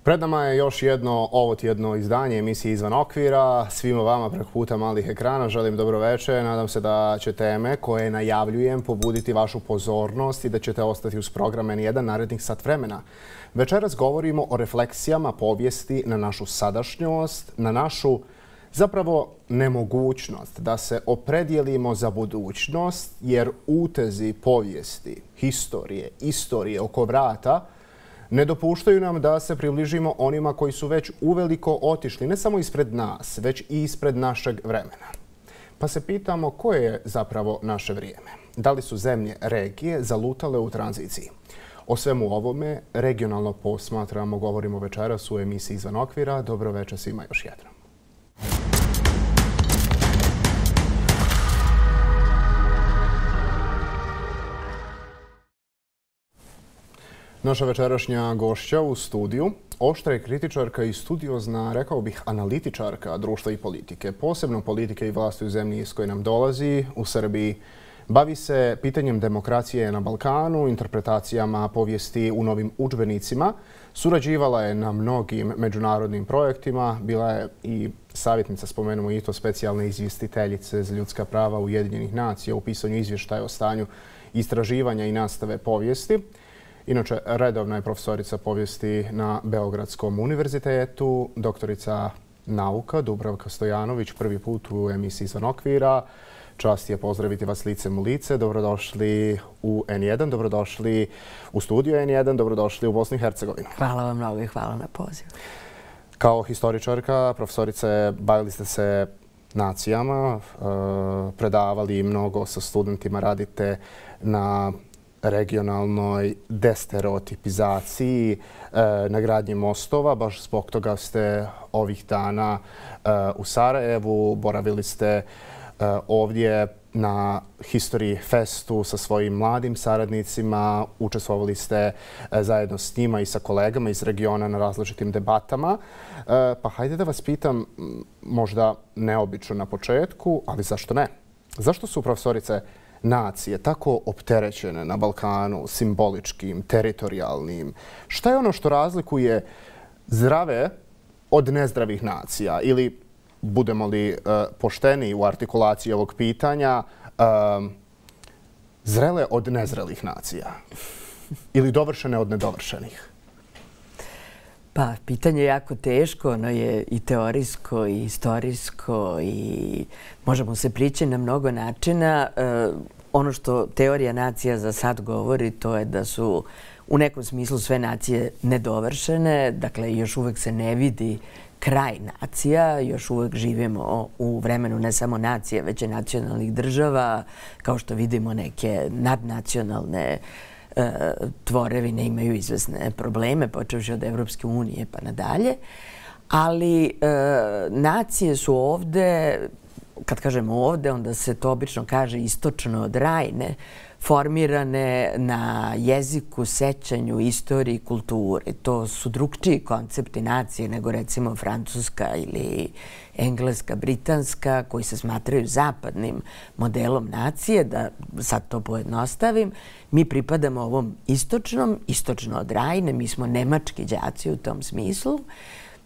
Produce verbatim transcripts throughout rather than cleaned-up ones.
Pred nama je još jedno ovotjedno izdanje emisije Izvan okvira. Svima vama preko puta malih ekrana želim dobroveče. Nadam se da će teme koje najavljujem pobuditi vašu pozornost i da ćete ostati uz program en jedan narednih sat vremena. Večeras govorimo o refleksijama povijesti na našu sadašnjost, na našu zapravo nemogućnost da se opredijelimo za budućnost, jer utezi povijesti, historije, istorije oko vrata ne dopuštaju nam da se približimo onima koji su već uveliko otišli, ne samo ispred nas, već i ispred našeg vremena. Pa se pitamo koje je zapravo naše vrijeme. Da li su zemlje regije zalutale u tranziciji? O svemu ovome regionalno posmatramo, govorimo večeras u emisiji Izvan okvira. Dobro večer svima još jednom. Naša večerašnja gošća u studiju, oštra je kritičarka i studiozna, rekao bih, analitičarka društva i politike, posebno politike i vlasti u zemlji iz koje nam dolazi, u Srbiji. Bavi se pitanjem demokracije na Balkanu, interpretacijama povijesti u novim udžbenicima. Surađivala je na mnogim međunarodnim projektima. Bila je i savjetnica, spomenemo i to, specijalne izvjestiteljice za ljudska prava Ujedinjenih nacija u pisanju izvještaja o stanju istraživanja i nastave povijesti. Inače, redovna je profesorica povijesti na Beogradskom univerzitetu, doktorica nauka Dubravka Stojanović, prvi put u emisiji Izvan okvira. Čast je pozdraviti vas licem u lice. Dobrodošli u en jedan, dobrodošli u studiju en jedan, dobrodošli u Bosnu i Hercegovinu. Hvala vam mnogo i hvala na pozivu. Kao historičarka, profesorice, bavili ste se nacijama, predavali mnogo sa studentima, radite na regionalnoj destereotipizaciji, na gradnji mostova. Baš zbog toga ste ovih dana u Sarajevu. Boravili ste ovdje na History Festu sa svojim mladim saradnicima. Učestvovali ste zajedno s njima i sa kolegama iz regiona na različitim debatama. Pa hajde da vas pitam, možda neobično na početku, ali zašto ne? Zašto su profesorice nacije tako opterećene na Balkanu simboličkim, teritorijalnim? Šta je ono što razlikuje zdrave od nezdravih nacija? Ili, budemo li uh, pošteni u artikulaciji ovog pitanja, uh, zrele od nezrelih nacija? Ili dovršene od nedovršenih? Pa, pitanje je jako teško, ono je i teorijsko i istorijsko i možemo se prići na mnogo načina. E, ono što teorija nacija za sad govori, to je da su u nekom smislu sve nacije nedovršene, dakle još uvek se ne vidi kraj nacija, još uvek živimo u vremenu ne samo nacije, već i nacionalnih država, kao što vidimo neke nadnacionalne tvorevine imaju izvesne probleme, počevši od Evropske unije pa nadalje. Ali e, nacije su ovde, kad kažemo ovde, onda se to obično kaže istočno od Rajne, formirane na jeziku, sećanju, istoriji, kulturi. To su drugčiji koncepti nacije nego recimo francuska ili engleska, britanska, koji se smatraju zapadnim modelom nacije. Da sad to pojednostavim, mi pripadamo ovom istočnom, istočno od Rajne, mi smo nemački đaci u tom smislu.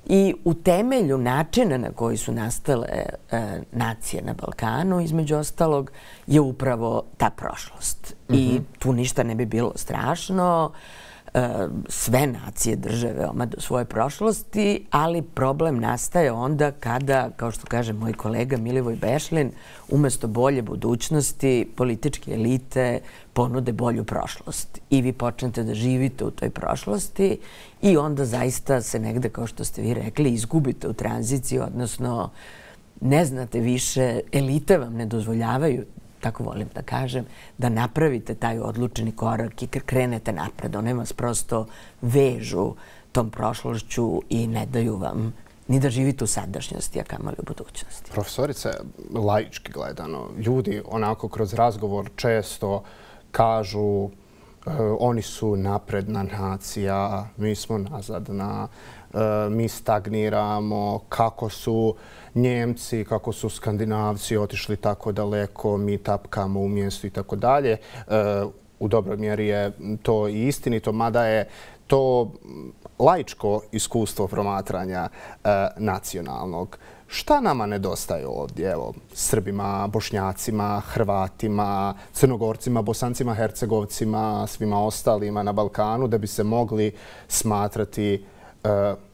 I u temelju načina na koji su nastale e, nacije na Balkanu, između ostalog, je upravo ta prošlost. Mm-hmm. I tu ništa ne bi bilo strašno. E, sve nacije drže veoma do svoje prošlosti, ali problem nastaje onda kada, kao što kaže moj kolega Milivoj Bešlin, umesto bolje budućnosti, političke elite ponude bolju prošlost. I vi počnete da živite u toj prošlosti i onda zaista se negde, kao što ste vi rekli, izgubite u tranziciji, odnosno ne znate više, elite vam ne dozvoljavaju, tako volim da kažem, da napravite taj odlučeni korak i krenete napred. One vas prosto vežu tom prošlošću i ne daju vam ni da živite u sadašnjosti, a kamoli u budućnosti. Profesorice, laički gledano, ljudi onako kroz razgovor često kažu oni su napredna nacija, mi smo nazadna, mi stagniramo, kako su Njemci, kako su Skandinavci otišli tako daleko, mi tapkamo u mjestu i tako dalje. U dobroj mjeri je to i istinito, mada je to laičko iskustvo promatranja nacionalnog. Šta nama nedostaje ovdje? Evo, Srbima, Bošnjacima, Hrvatima, Crnogorcima, Bosancima, Hercegovcima, svima ostalima na Balkanu da bi se mogli smatrati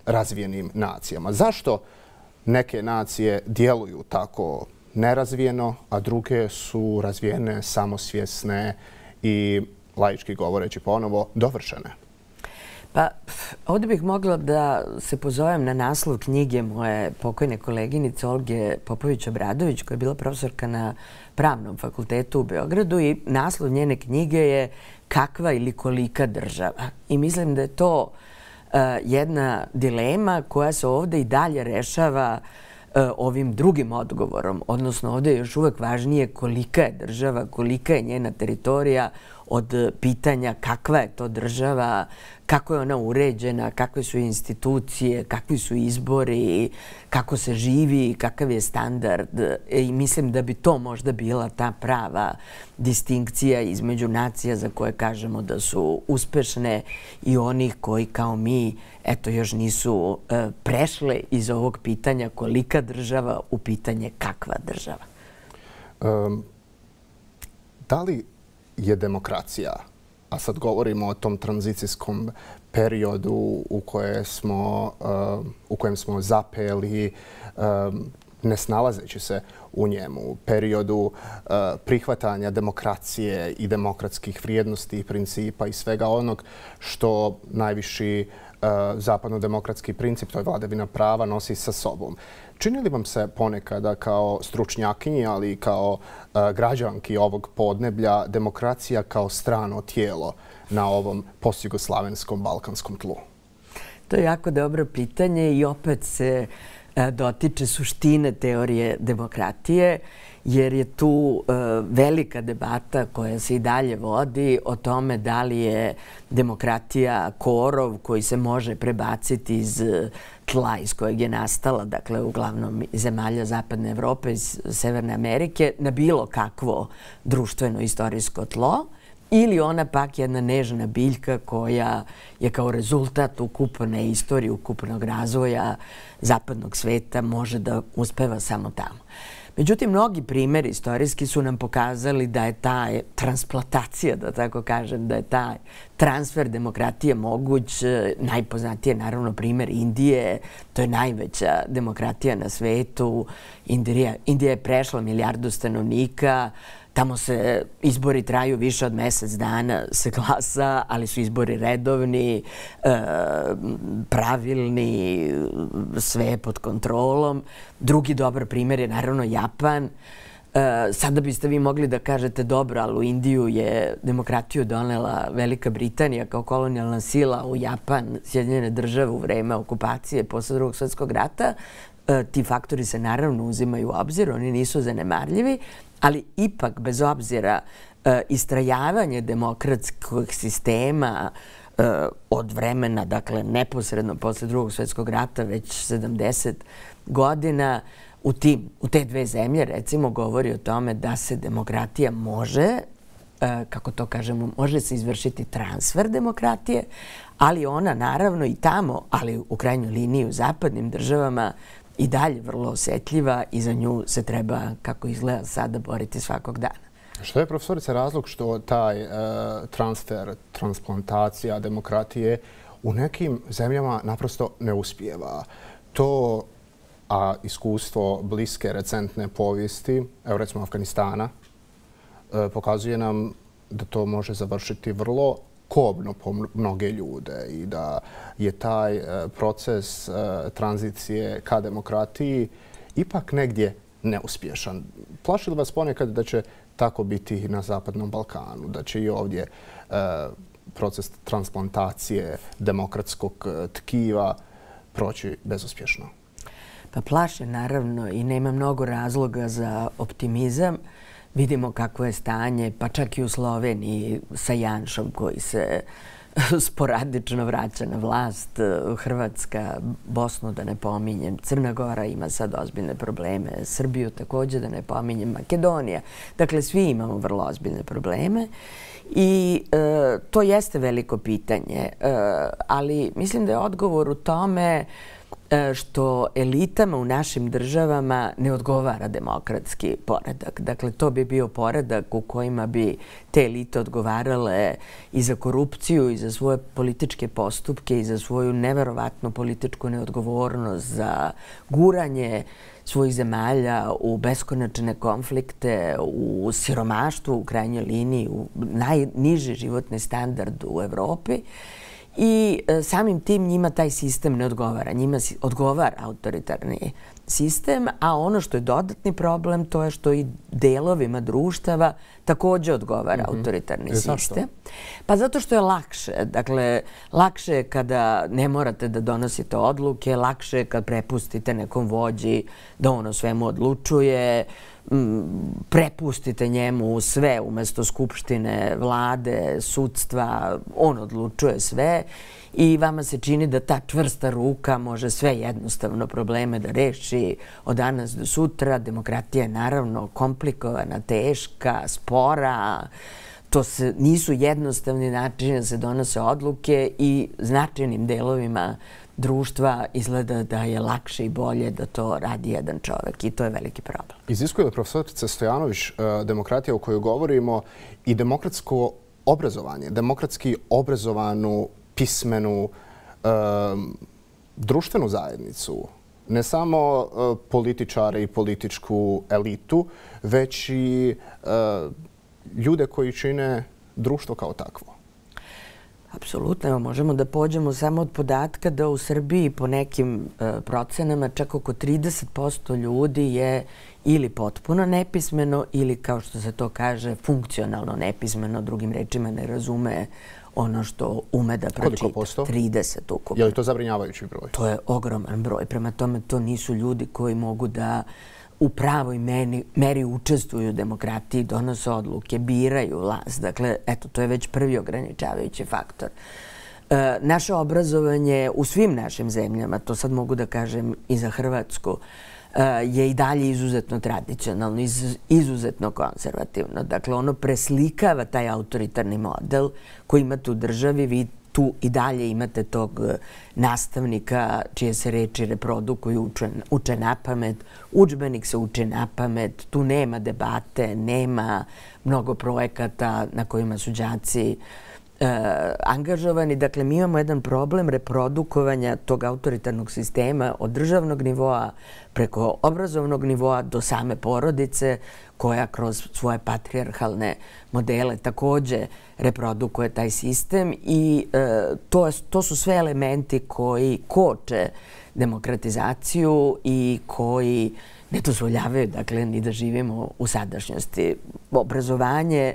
razvijenim nacijama. Zašto neke nacije djeluju tako nerazvijeno, a druge su razvijene, samosvjesne i, laički govoreći ponovo, dovršene? Pa, ovdje bih mogla da se pozovem na naslov knjige moje pokojne koleginice Olge Popović-Obradović, koja je bila profesorka na Pravnom fakultetu u Beogradu, i naslov njene knjige je Kakva ili kolika država. I mislim da je to jedna dilema koja se ovdje i dalje rešava ovim drugim odgovorom. Odnosno, ovdje je još uvek važnije kolika je država, kolika je njena teritorija od pitanja kakva je to država, kako je ona uređena, kakve su institucije, kakvi su izbori, kako se živi, kakav je standard. I mislim da bi to možda bila ta prava distinkcija između nacija za koje kažemo da su uspešne i onih koji kao mi eto još nisu prešle iz ovog pitanja kolika država u pitanje kakva država. Da li je demokracija, a sad govorimo o tom tranzicijskom periodu u kojem smo, u kojem smo zapeli, ne snalazeći se u njemu, periodu prihvatanja demokracije i demokratskih vrijednosti i principa i svega onog što najviši zapadno-demokratski princip, to je vladavina prava, nosi sa sobom. Čini li vam se ponekada kao stručnjakinji, ali i kao građanki ovog podneblja, demokracija kao strano tijelo na ovom postjugoslavenskom balkanskom tlu? To je jako dobro pitanje i opet se dotiče suštine teorije demokratije, jer je tu velika debata koja se i dalje vodi o tome da li je demokratija korov koji se može prebaciti iz tla iz kojeg je nastala, dakle uglavnom zemalja Zapadne Evrope, iz Severne Amerike, na bilo kakvo društveno istorijsko tlo, ili ona pak jedna nežna biljka koja je kao rezultat ukupne istorije, ukupnog razvoja zapadnog sveta može da uspeva samo tamo. Međutim, mnogi primjeri istorijski su nam pokazali da je ta transplantacija, da tako kažem, da je taj transfer demokratije moguć. Najpoznatiji je naravno primjer Indije. To je najveća demokratija na svetu. Indija, Indija je prešla milijardu stanovnika. Tamo se izbori traju više od mjesec dana, se glasa, ali su izbori redovni, pravilni, sve pod kontrolom. Drugi dobar primjer je naravno Japan. Sada biste vi mogli da kažete dobro, ali u Indiju je demokratiju donela Velika Britanija kao kolonijalna sila, u Japan, Sjedinjene države u vreme okupacije posle Drugog svjetskog rata. Ti faktori se naravno uzimaju u obzir, oni nisu zanemarljivi, ali ipak, bez obzira, istrajavanje demokratskog sistema od vremena, dakle, neposredno posle Drugog svjetskog rata, već sedamdeset godina, u, tim, u te dve zemlje, recimo, govori o tome da se demokratija može, kako to kažemo, može se izvršiti transfer demokratije, ali ona naravno i tamo, ali u krajnjoj liniji u zapadnim državama, i dalje vrlo osjetljiva i za nju se treba, kako izgleda sada, boriti svakog dana. Što je, profesorice, razlog što taj uh, transfer, transplantacija demokratije u nekim zemljama naprosto ne uspijeva? To, a iskustvo bliske recentne povijesti, evo recimo Afganistana, uh, pokazuje nam da to može završiti vrlo kobno po mnoge ljude i da je taj proces tranzicije ka demokratiji ipak negdje neuspješan. Plaši li vas ponekad da će tako biti i na Zapadnom Balkanu, da će i ovdje proces transplantacije demokratskog tkiva proći bezuspješno? Pa plaše naravno i nema mnogo razloga za optimizam. Vidimo kako je stanje, pa čak i u Sloveniji sa Janšom koji se sporadično vraća na vlast. Hrvatska, Bosnu da ne pominjem, Crna Gora ima sad ozbiljne probleme, Srbiju također da ne pominjem, Makedonija. Dakle, svi imamo vrlo ozbiljne probleme I to jeste veliko pitanje, ali mislim da je odgovor u tome što elitama u našim državama ne odgovara demokratski poredak. Dakle, to bi bio poredak u kojima bi te elite odgovarale i za korupciju, i za svoje političke postupke, i za svoju neverovatnu političku neodgovornost, za guranje svojih zemalja u beskonačne konflikte, u siromaštvo u krajnjoj liniji, u najniži životni standard u Evropi. I samim tim njima taj sistem ne odgovara. Njima odgovara autoritarni sistem, a ono što je dodatni problem to je što i delovima društava također odgovara autoritarni sistem. Pa zato što je lakše. Dakle, lakše je kada ne morate da donosite odluke, lakše je kad prepustite nekom vođi da on o svemu odlučuje, prepustite njemu sve umjesto skupštine, vlade, sudstva, on odlučuje sve i vama se čini da ta čvrsta ruka može sve jednostavno probleme da reši od danas do sutra. Demokratija je naravno komplikovana, teška, spora. To nisu jednostavni načini da se donose odluke i značajnim delovima društva izgleda da je lakše i bolje da to radi jedan čovek i to je veliki problem. Iziskuje li profesorica Stojanović demokratija o kojoj govorimo i demokratsko obrazovanje, demokratski obrazovanu, pismenu, društvenu zajednicu, ne samo političare i političku elitu, već i ljude koji čine društvo kao takvo? Apsolutno. Možemo da pođemo samo od podatka da u Srbiji po nekim procenama čak oko trideset posto ljudi je ili potpuno nepismeno ili, kao što se to kaže, funkcionalno nepismeno, drugim rečima ne razume ono što ume da pročita. Koliko posto? trideset ukupno. Je li to zabrinjavajući broj? To je ogroman broj. Prema tome, to nisu ljudi koji mogu da u pravoj meri učestvuju u demokratiji, donose odluke, biraju vlast. Dakle, eto, to je već prvi ograničavajući faktor. Naše obrazovanje u svim našim zemljama, to sad mogu da kažem i za Hrvatsku, je i dalje izuzetno tradicionalno, izuzetno konzervativno. Dakle, ono preslikava taj autoritarni model koji imate u državi. Vi tu i dalje imate tog nastavnika čije se reči reprodukuju, uče na pamet, udžbenik se uči na pamet, tu nema debate, nema mnogo projekata na kojima su đaci angažovani. Dakle, mi imamo jedan problem reprodukovanja tog autoritarnog sistema od državnog nivoa preko obrazovnog nivoa do same porodice koja kroz svoje patrijarhalne modele također reprodukuje taj sistem i to su sve elementi koji koče demokratizaciju i koji ne dozvoljavaju, dakle, ni da živimo u sadašnjosti. Obrazovanje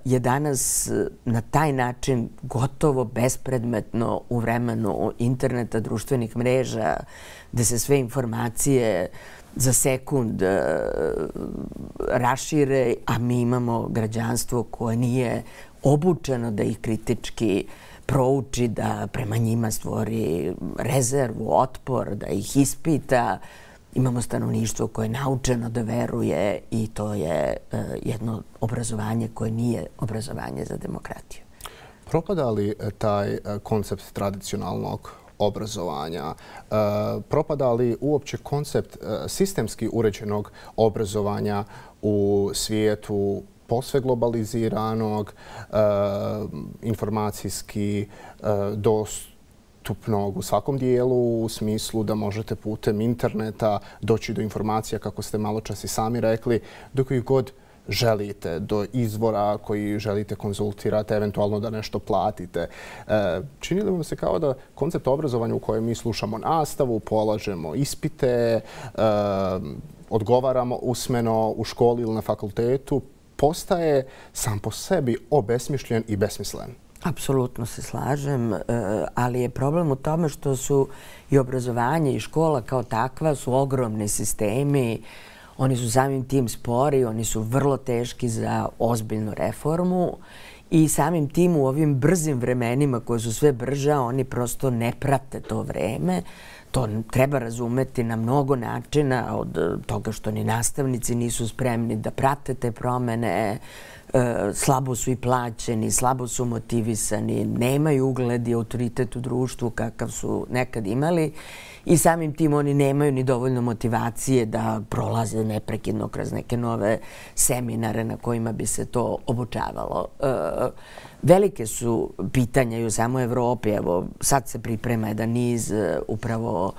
je danas na taj način gotovo bespredmetno u vremenu interneta, društvenih mreža, gde se sve informacije za sekund rašire, a mi imamo građanstvo koje nije obučeno da ih kritički prouči, da prema njima stvori rezervu, otpor, da ih ispita. Imamo stanovništvo koje je naučeno da veruje i to je jedno obrazovanje koje nije obrazovanje za demokratiju. Propada li taj koncept tradicionalnog obrazovanja? Propada li uopće koncept sistemski uređenog obrazovanja u svijetu posve globaliziranog, informacijski dostupnog u svakom dijelu, u smislu da možete putem interneta doći do informacija, kako ste malo čas i sami rekli, do kojih god želite, do izvora koji želite konzultirati, eventualno da nešto platite. Čini li vam se kao da koncept obrazovanja u kojem mi slušamo nastavu, polažemo ispite, odgovaramo usmeno u školi ili na fakultetu, postaje sam po sebi obesmišljen i besmislen? Apsolutno se slažem, ali je problem u tome što su i obrazovanje i škola kao takva su ogromni sistemi. Oni su samim tim spori, oni su vrlo teški za ozbiljnu reformu i samim tim u ovim brzim vremenima koje su sve brža, oni prosto ne prate to vreme. To treba razumeti na mnogo načina, od toga što ni nastavnici nisu spremni da prate te promene, slabo su i plaćeni, slabo su motivisani, nemaju ugled i autoritet u društvu kakav su nekad imali i samim tim oni nemaju ni dovoljno motivacije da prolaze neprekidno kroz neke nove seminare na kojima bi se to obučavalo. Velike su pitanja i u samoj Evropi. Evo, sad se priprema jedan niz upravo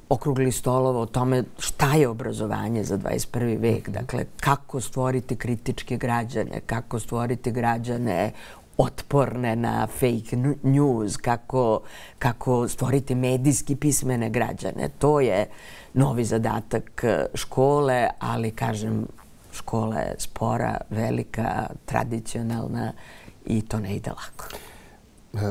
okruglih stolova o tome šta je obrazovanje za dvadeset prvi vek. Dakle, kako stvoriti kritičke građane, kako stvoriti građane otporne na fake news, kako, kako stvoriti medijski pismene građane. To je novi zadatak škole, ali, kažem, škola je spora, velika, tradicionalna i to ne ide lako.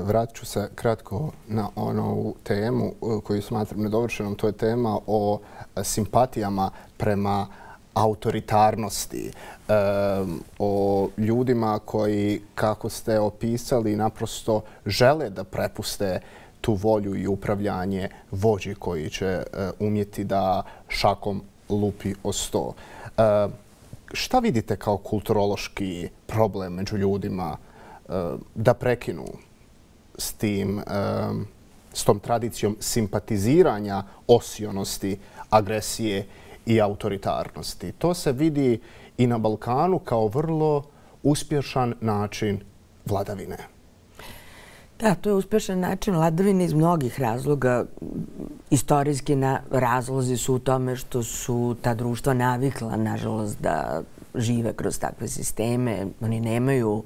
Vratit ću se kratko na onu temu koju smatram nedovršenom. To je tema o simpatijama prema autoritarnosti, o ljudima koji, kako ste opisali, naprosto žele da prepuste tu volju i upravljanje vođi koji će umjeti da šakom lupi o sto. Šta vidite kao kulturološki problem među ljudima da prekinu s tim, s tom tradicijom simpatiziranja osionosti, agresije i autoritarnosti? To se vidi i na Balkanu kao vrlo uspješan način vladavine. Da, to je uspješan način vladavine iz mnogih razloga. Istorijski razlozi su u tome što su ta društva navikla, nažalost, da žive kroz takve sisteme. Oni nemaju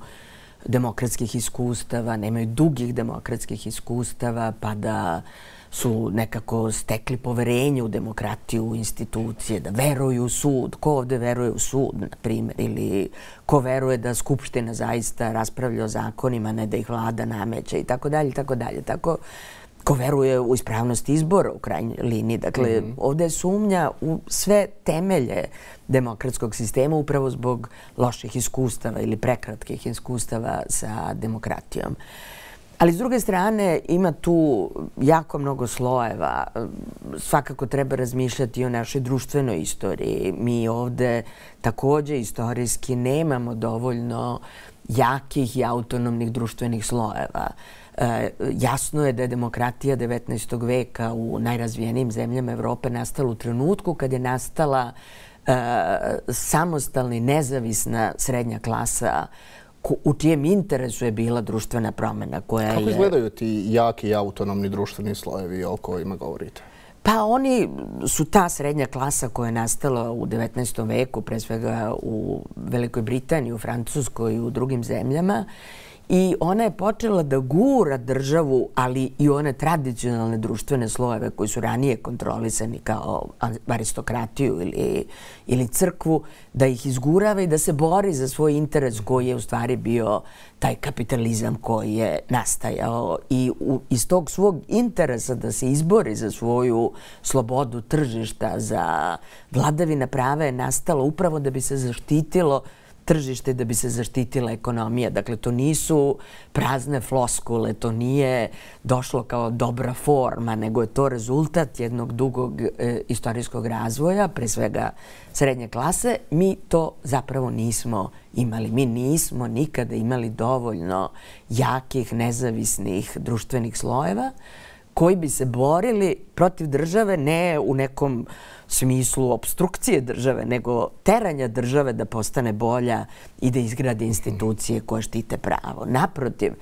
demokratskih iskustava, nemaju dugih demokratskih iskustava, pa da su nekako stekli poverenje u demokratiju, u institucije, da veruju u sud. Ko ovde veruje u sud, na primjer, ili ko veruje da Skupština zaista raspravlja o zakonima, ne da ih vlada nameće i tako dalje, tako dalje. Tako, ko veruje u ispravnost izbora u krajnjoj liniji. Dakle, ovde je sumnja u sve temelje demokratskog sistema upravo zbog loših iskustava ili prekratkih iskustava sa demokratijom. Ali s druge strane ima tu jako mnogo slojeva. Svakako treba razmišljati i o našoj društvenoj istoriji. Mi ovde takođe istorijski nemamo dovoljno jakih i autonomnih društvenih slojeva. Jasno je da je demokratija devetnaestog veka u najrazvijenijim zemljama Evrope nastala u trenutku kad je nastala samostalna i nezavisna srednja klasa u čijem interesu je bila društvena promjena koja je... Kako izgledaju ti jaki i autonomni društveni slojevi o kojima govorite? Pa oni su ta srednja klasa koja je nastala u devetnaestom veku, pre svega u Velikoj Britaniji, u Francuskoj i u drugim zemljama. I ona je počela da gura državu, ali i one tradicionalne društvene slojeve koji su ranije kontrolisani kao aristokratiju ili, ili crkvu, da ih izgurava i da se bori za svoj interes koji je u stvari bio taj kapitalizam koji je nastajao. I u, iz tog svog interesa da se izbori za svoju slobodu tržišta, za vladavina prava je nastalo upravo da bi se zaštitilo tržište, da bi se zaštitila ekonomija. Dakle, to nisu prazne floskule, to nije došlo kao dobra forma, nego je to rezultat jednog dugog e, istorijskog razvoja, pre svega srednje klase. Mi to zapravo nismo imali. Mi nismo nikada imali dovoljno jakih, nezavisnih društvenih slojeva koji bi se borili protiv države ne u nekom smislu obstrukcije države, nego teranja države da postane bolja i da izgradi institucije koje štite pravo. Naprotiv,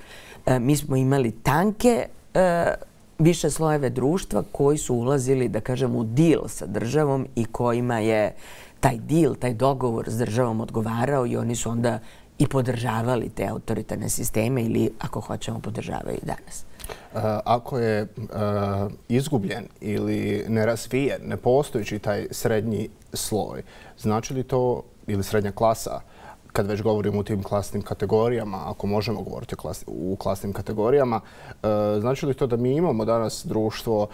mi smo imali tanke više slojeve društva koji su ulazili, da kažem, u dil sa državom i kojima je taj dil, taj dogovor s državom odgovarao i oni su onda i podržavali te autoritarne sisteme ili, ako hoćemo, podržavaju i danas. Ako je izgubljen ili nerazvijen, nepostojeći taj srednji sloj, znači li to, ili srednja klasa, kad već govorimo o tim klasnim kategorijama, ako možemo govoriti u klasnim kategorijama, znači li to da mi imamo danas društvo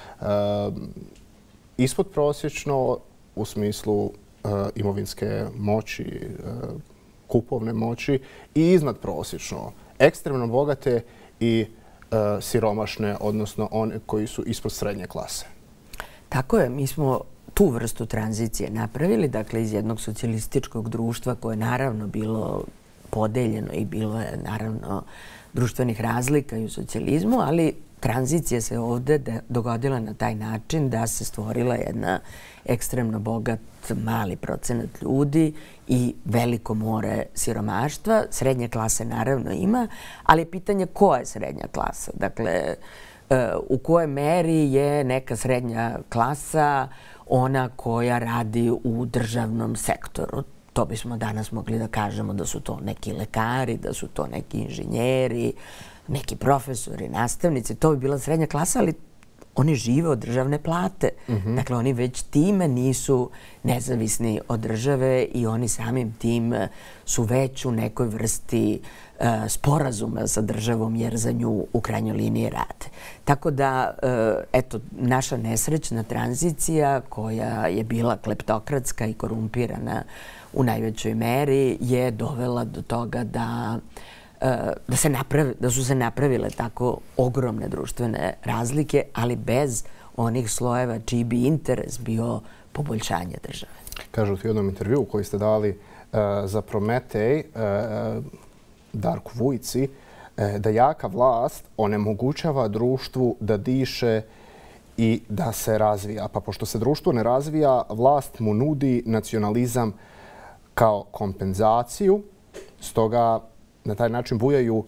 ispodprosječno u smislu imovinske moći, kupovne moći i iznadprosječno, ekstremno bogate i siromašne, odnosno one koji su ispod srednje klase. Tako je, mi smo tu vrstu tranzicije napravili, dakle iz jednog socijalističkog društva koje je naravno bilo podeljeno i bilo je naravno društvenih razlika i u socijalizmu, ali tranzicija se ovde dogodila na taj način da se stvorila jedna ekstremno bogat mali procenat ljudi i veliko more siromaštva. Srednje klase naravno ima, ali je pitanje ko je srednja klasa. Dakle, u kojoj meri je neka srednja klasa ona koja radi u državnom sektoru. To bismo danas mogli da kažemo da su to neki lekari, da su to neki inženjeri, neki profesori, nastavnici. To bi bila srednja klasa, ali oni žive od državne plate. Dakle, oni već time nisu nezavisni od države i oni samim tim su već u nekoj vrsti sporazuma sa državom jer za nju u krajnjoj liniji rade. Tako da, eto, naša nesrećna tranzicija koja je bila kleptokratska i korumpirana u najvećoj meri je dovela do toga da Da, se napravi, da su se napravile tako ogromne društvene razlike, ali bez onih slojeva čiji bi interes bio poboljšanje države. Kažete u jednom intervjuu koji ste dali uh, za Prometej uh, Darku Vujci, uh, da jaka vlast onemogućava društvu da diše i da se razvija. Pa pošto se društvo ne razvija, vlast mu nudi nacionalizam kao kompenzaciju, stoga na taj način bujaju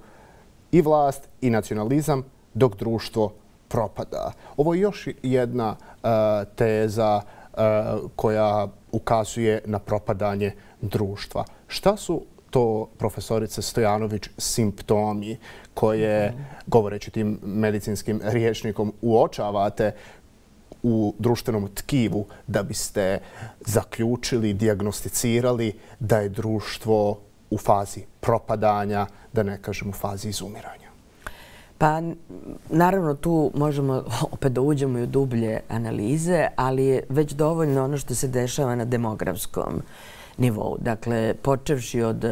i vlast i nacionalizam dok društvo propada. Ovo je još jedna uh, teza uh, koja ukazuje na propadanje društva. Šta su to, profesorice Stojanović, simptomi koje, govoreći tim medicinskim rječnikom, uočavate u društvenom tkivu da biste zaključili, dijagnosticirali da je društvo u fazi propadanja, da ne kažem u fazi izumiranja? Pa, naravno, tu možemo opet da uđemo i u dublje analize, ali je već dovoljno ono što se dešava na demografskom nivou. Dakle, počevši od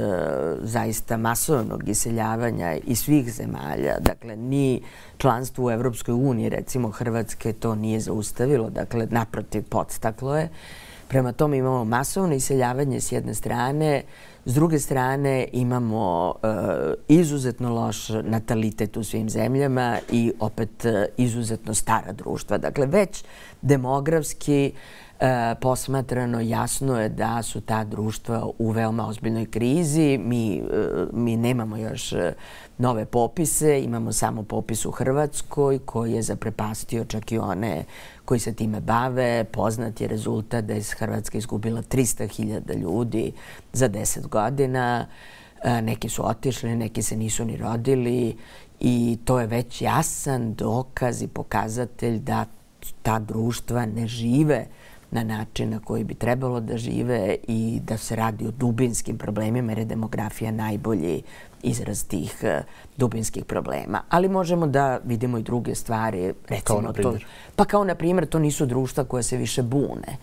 zaista masovnog iseljavanja iz svih zemalja, dakle, ni članstvo u Evropskoj uniji, recimo Hrvatske, to nije zaustavilo, dakle, naprotiv, podstaklo je. Prema tome imamo masovno iseljavanje s jedne strane, s druge strane imamo uh, izuzetno loš natalitet u svim zemljama i opet uh, izuzetno stara društva. Dakle, već demografski uh, posmatrano jasno je da su ta društva u veoma ozbiljnoj krizi. Mi, uh, mi nemamo još uh, nove popise, imamo samo popis u Hrvatskoj koji je zaprepastio čak i one koji se time bave. Poznat je rezultat da je Hrvatska izgubila trista hiljada ljudi za deset godina. Neki su otišli, neki se nisu ni rodili i to je već jasan dokaz i pokazatelj da ta društva ne žive na način na koji bi trebalo da žive i da se radi o dubinskim problemima jer je demografija najbolji izraz tih dubinskih problema. Ali možemo da vidimo i druge stvari. Kao na primjer? Pa kao na primjer, to nisu društva koja se više bune.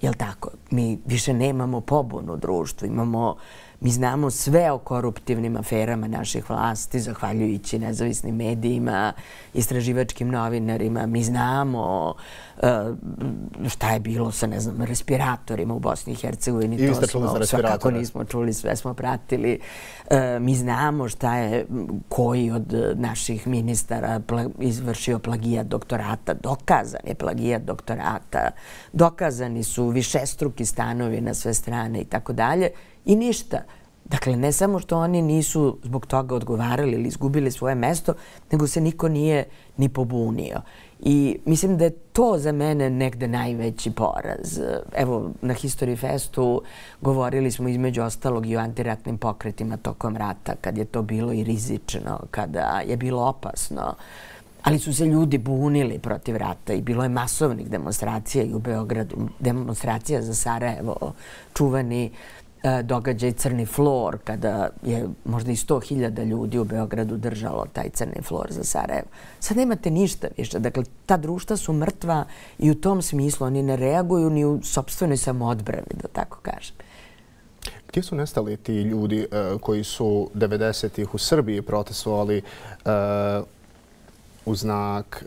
Jel' tako? Mi više nemamo pobunu u društvu. Imamo, mi znamo sve o koruptivnim aferama naših vlasti, zahvaljujući nezavisnim medijima, istraživačkim novinarima. Mi znamo uh, šta je bilo sa, ne znam, respiratorima u Bosni i Hercegovini. I vi ste čuli za respiratore? Svakako nismo čuli, sve smo pratili. Uh, mi znamo šta je koji od naših ministara pla, izvršio plagijat doktorata. Dokazan je plagijat doktorata. Dokazani su višestruki stanovi na sve strane i tako dalje. I ništa. Dakle, ne samo što oni nisu zbog toga odgovarali ili izgubili svoje mesto, nego se niko nije ni pobunio. I mislim da je to za mene negde najveći poraz. Evo, na History Festu govorili smo između ostalog i o antiratnim pokretima tokom rata, kad je to bilo i rizično, kada je bilo opasno. Ali su se ljudi bunili protiv rata i bilo je masovnih demonstracija i u Beogradu. Demonstracija za Sarajevo, čuveni događaj Crni flor, kada je možda i sto hiljada ljudi u Beogradu držalo taj Crni flor za Sarajevo. Sad nemate ništa više. Dakle, ta društva su mrtva i u tom smislu oni ne reaguju ni u sopstvenoj samoodbrani, da tako kažem. Gdje su nestali ti ljudi uh, koji su devedesetih u Srbiji protestovali uh, u znak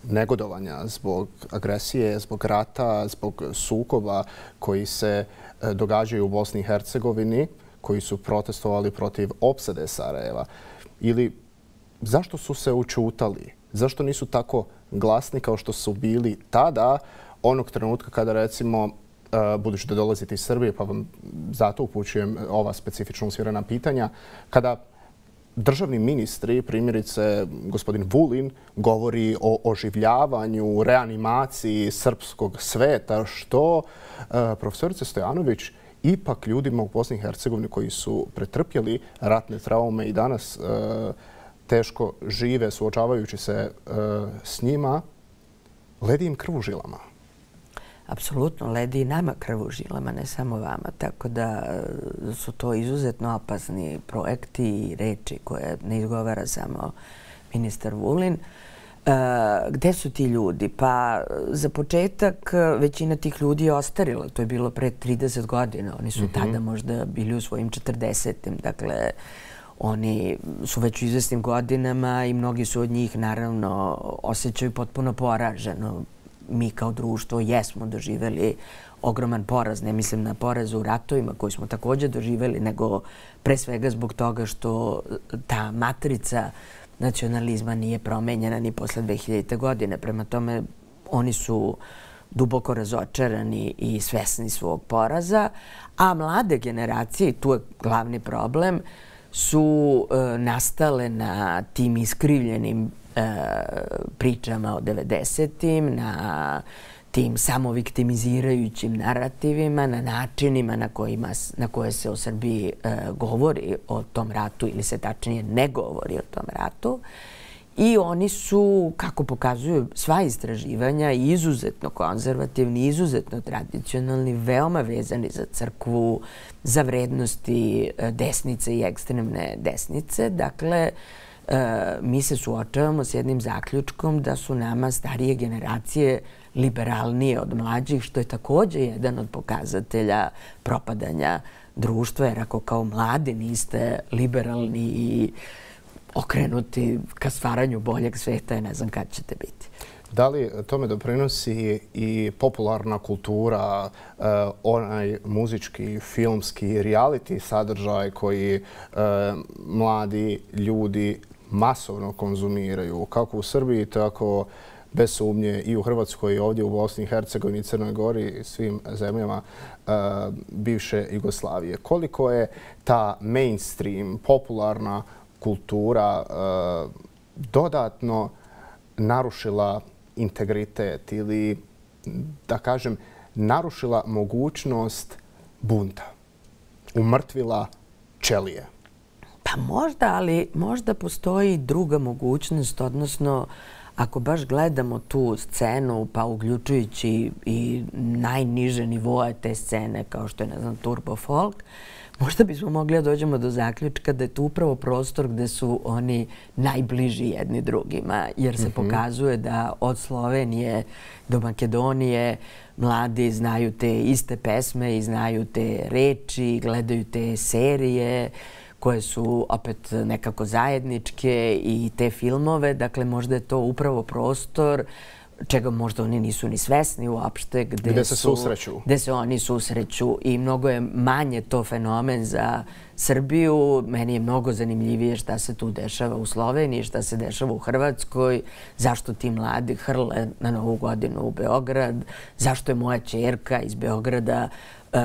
negodovanja zbog agresije, zbog rata, zbog sukoba koji se događaju u Bosni i Hercegovini, koji su protestovali protiv opsade Sarajeva? Ili zašto su se učutali? Zašto nisu tako glasni kao što su bili tada, onog trenutka kada, recimo, budući da dolazite iz Srbije, pa vam zato upućujem ova specifično usmjerena pitanja, kada državni ministri, primjerice gospodin Vulin, govori o oživljavanju, reanimaciji srpskog sveta, što profesorica Stojanović ipak ljudima u Bosni i Hercegovini koji su pretrpjeli ratne traume i danas teško žive suočavajući se s njima, ledi im krv u žilama. Apsolutno, ledi i nama krv u žilama, ne samo vama. Tako da su to izuzetno opasni projekti i reči koje ne izgovara samo ministar Vulin. Gde su ti ljudi? Pa za početak većina tih ljudi je ostarila. To je bilo pre trideset godina. Oni su tada možda bili u svojim četrdesetim. Dakle, oni su već u izvesnim godinama i mnogi su od njih naravno osjećaju potpuno poraženo. Mi kao društvo jesmo doživjeli ogroman poraz. Ne mislim na poraz u ratovima koji smo također doživjeli, nego pre svega zbog toga što ta matrica nacionalizma nije promenjena ni posle dve hiljadite. godine. Prema tome, oni su duboko razočarani i svesni svog poraza, a mlade generacije, i tu je glavni problem, su nastale na tim iskrivljenim pričama o devedesetim, na tim samoviktimizirajućim narativima, na načinima na, kojima, na koje se o Srbiji govori o tom ratu ili se tačnije ne govori o tom ratu. I oni su, kako pokazuju sva istraživanja, izuzetno konzervativni, izuzetno tradicionalni, veoma vezani za crkvu, za vrednosti desnice i ekstremne desnice. Dakle, mi se suočavamo s jednim zaključkom da su nama starije generacije liberalnije od mlađih, što je također jedan od pokazatelja propadanja društva, jer ako kao mladi niste liberalni i okrenuti ka stvaranju boljeg sveta, ja ne znam kad ćete biti. Da li tome doprinosi i popularna kultura, onaj muzički, filmski, reality sadržaj koji mladi ljudi masovno konzumiraju, kako u Srbiji, tako bez sumnje i u Hrvatskoj, i ovdje u Bosni i Hercegovini, Crnoj Gori i svim zemljama bivše Jugoslavije? Koliko je ta mainstream, popularna kultura dodatno narušila integritet ili, da kažem, narušila mogućnost bunta, umrtvila ćelije? Pa možda, ali možda postoji druga mogućnost, odnosno ako baš gledamo tu scenu, pa uključujući i najniže nivoe te scene, kao što je, ne znam, turbo folk, možda bismo mogli da dođemo do zaključka da je to upravo prostor gde su oni najbliži jedni drugima, jer se pokazuje da od Slovenije do Makedonije mladi znaju te iste pesme i znaju te reči, gledaju te serije koje su opet nekako zajedničke i te filmove. Dakle, možda je to upravo prostor čega možda oni nisu ni svesni uopšte. Gde se susreću. Gde se oni susreću i mnogo je manje to fenomen za Srbiju. Meni je mnogo zanimljivije šta se tu dešava u Sloveniji, šta se dešava u Hrvatskoj, zašto ti mladi hrle na Novu godinu u Beograd, zašto je moja ćerka iz Beograda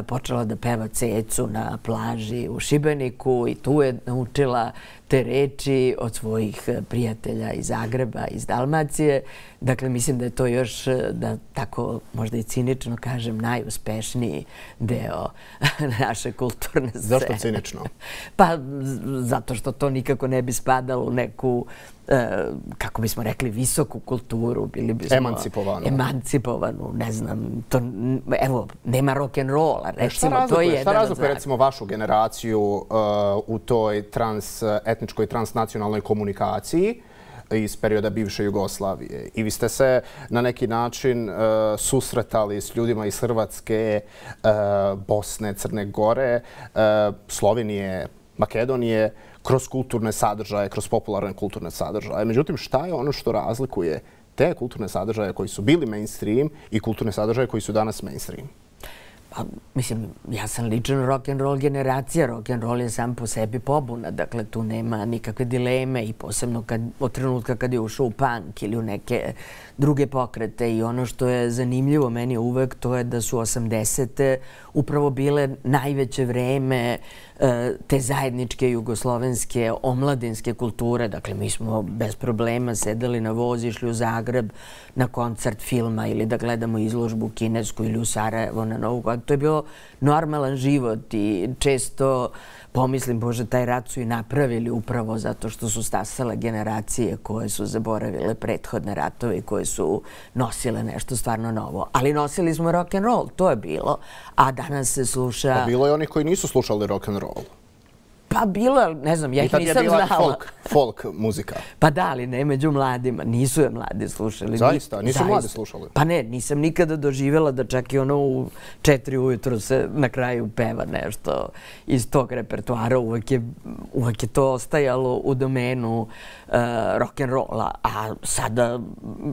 počela da peva Cecu na plaži u Šibeniku i tu je naučila te reči od svojih prijatelja iz Zagreba, iz Dalmacije. Dakle, mislim da je to još, da tako možda i cinično kažem, najuspešniji deo naše kulturne scene. Zašto cinično? Pa zato što to nikako ne bi spadalo u neku, kako bismo rekli, visoku kulturu. Bili bismo emancipovanu. Emancipovanu, ne znam. To, evo, nema rock'n'rolla, recimo. Šta razlikuje, šta razlikuje recimo vašu generaciju uh, u toj trans, etničkoj transnacionalnoj komunikaciji iz perioda bivše Jugoslavije? I vi ste se na neki način uh, susretali s ljudima iz Hrvatske, uh, Bosne, Crne Gore, uh, Slovenije, Makedonije, kroz kulturne sadržaje, kroz popularne kulturne sadržaje. Međutim, šta je ono što razlikuje te kulturne sadržaje koji su bili mainstream i kulturne sadržaje koji su danas mainstream? Pa, mislim, ja sam lično rock'n'roll generacija. Rock'n'roll je sam po sebi pobuna. Dakle, tu nema nikakve dileme i posebno kad, od trenutka kad je ušao u punk ili u neke druge pokrete. I ono što je zanimljivo meni uvek, to je da su osamdesete upravo bile najveće vreme te zajedničke jugoslovenske omladinske kulture. Dakle, mi smo bez problema sedeli na voz, išli u Zagreb na koncert filma ili da gledamo izložbu kinesku ili u Sarajevo na Novu godinu. To je bio normalan život i često pomislim, Bože, taj rat su i napravili upravo zato što su stasale generacije koje su zaboravile prethodne ratove i koje su nosile nešto stvarno novo. Ali nosili smo rock'n'roll, to je bilo. A danas se sluša... Pa bilo je onih koji nisu slušali rock'n'roll. Pa bilo, ne znam, ja ih nisam znala. I tad je bila folk, folk muzika. Pa da, ali ne među mladima. Nisu je mladi slušali. Zaista? Nisu mladi slušali? Pa ne, nisam nikada doživjela da čak i ono u četiri ujutru se na kraju peva nešto iz tog repertoara. Uvek je, uvek je to ostajalo u domenu uh, rock'n'rolla. A sada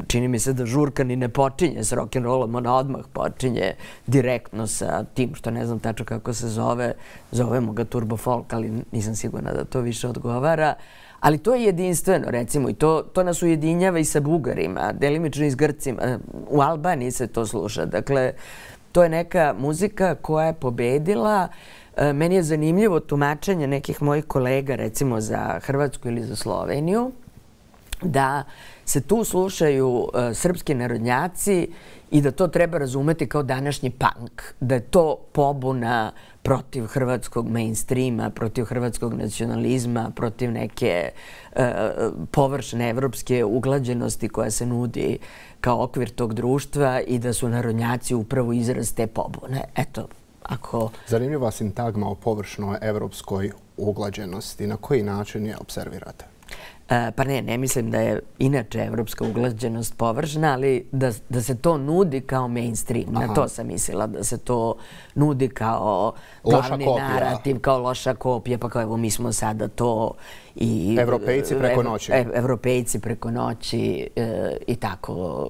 čini mi se da žurka ni ne počinje s rock'n'rollom, ona odmah počinje direktno sa tim što ne znam tačno kako se zove. Zovemo ga turbo folk, ali nisam sigurna da to više odgovara. Ali to je jedinstveno, recimo, i to, to nas ujedinjava i sa Bugarima, delimično i s Grcima. U Albaniji se to sluša. Dakle, to je neka muzika koja je pobedila. Meni je zanimljivo tumačenje nekih mojih kolega, recimo za Hrvatsku ili za Sloveniju, da se tu slušaju srpski narodnjaci i da to treba razumeti kao današnji punk. Da je to pobuna protiv hrvatskog mainstreama, protiv hrvatskog nacionalizma, protiv neke e, površne evropske uglađenosti koja se nudi kao okvir tog društva i da su narodnjaci upravo izraz te pobune. Eto, ako... Zanimljiva sintagma o površnoj evropskoj uglađenosti. Na koji način je observirate? Pa ne, ne mislim da je inače evropska uglađenost površna, ali da, da se to nudi kao mainstream. Aha. Na to sam mislila, da se to nudi kao glavni narativ, kao loša kopija, pa kao evo mi smo sada to i... Evropejci preko noći. Ev, evropejci preko noći e, i tako,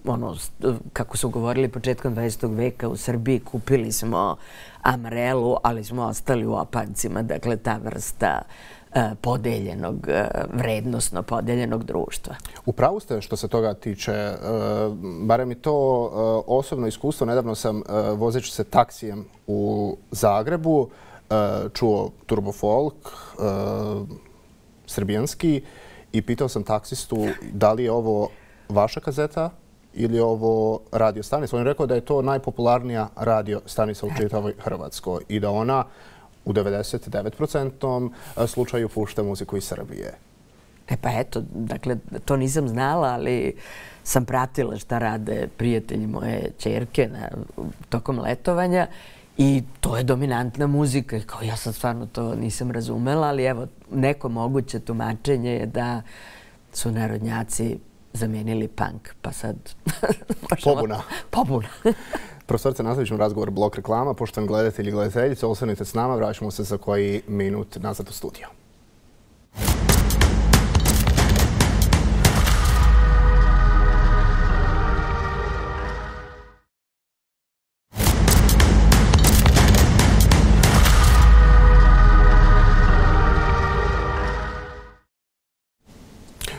ono, kako su govorili početkom dvadesetog veka u Srbiji, kupili smo Amarelu, ali smo ostali u opancima, dakle ta vrsta podeljenog, vrednosno podeljenog društva. Upravo ste što se toga tiče, barem i to osobno iskustvo. Nedavno sam, vozeći se taksijem u Zagrebu, čuo turbo folk, srbijanski, i pitao sam taksistu da li je ovo vaša kazeta ili je ovo radio stanica. On je rekao da je to najpopularnija radio stanica u čitavoj Hrvatskoj i da ona u devedeset devet posto slučaju pušta muziku iz Srbije. E pa eto, dakle, to nisam znala, ali sam pratila šta rade prijatelji moje ćerke na, tokom letovanja i to je dominantna muzika. Kao ja sad stvarno to nisam razumela, ali evo, neko moguće tumačenje je da su narodnjaci zamijenili punk, pa sad... Pobuna. Pobuna. Profesorice, nastavit ćemo razgovor blok reklama. Poštovani gledatelji i gledateljice, ostanite s nama, vraćamo se za koji minut nazad u studio.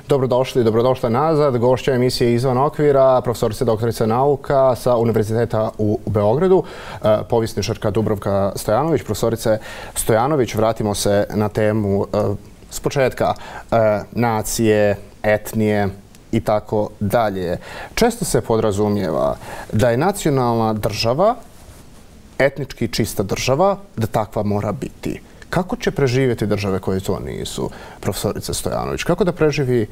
Dobrodošli, dobrodošla nazad. Gošća emisije Izvan okvira, profesorica doktorica nauka sa Univerziteta u Beogradu, povjesničarka Dubravka Stojanović. Profesorice Stojanović, vratimo se na temu s početka nacije, etnije i tako dalje. Često se podrazumijeva da je nacionalna država etnički čista država, da takva mora biti. Kako će preživjeti države koje to nisu, profesorica Stojanović? Kako da preživi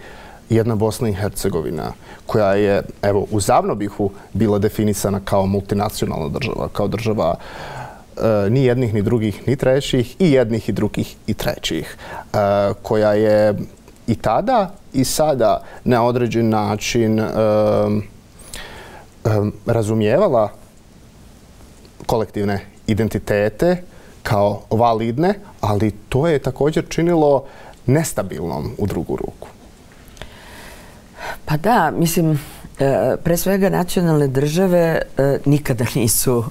jedna Bosna i Hercegovina koja je, evo, u Zavnobihu bila definisana kao multinacionalna država, kao država e, ni jednih, ni drugih, ni trećih, i jednih, i drugih, i trećih, e, koja je i tada i sada na određen način e, e, razumijevala kolektivne identitete kao validne, ali to je također činilo nestabilnom u drugu ruku. Pa da, mislim, pre svega nacionalne države nikada nisu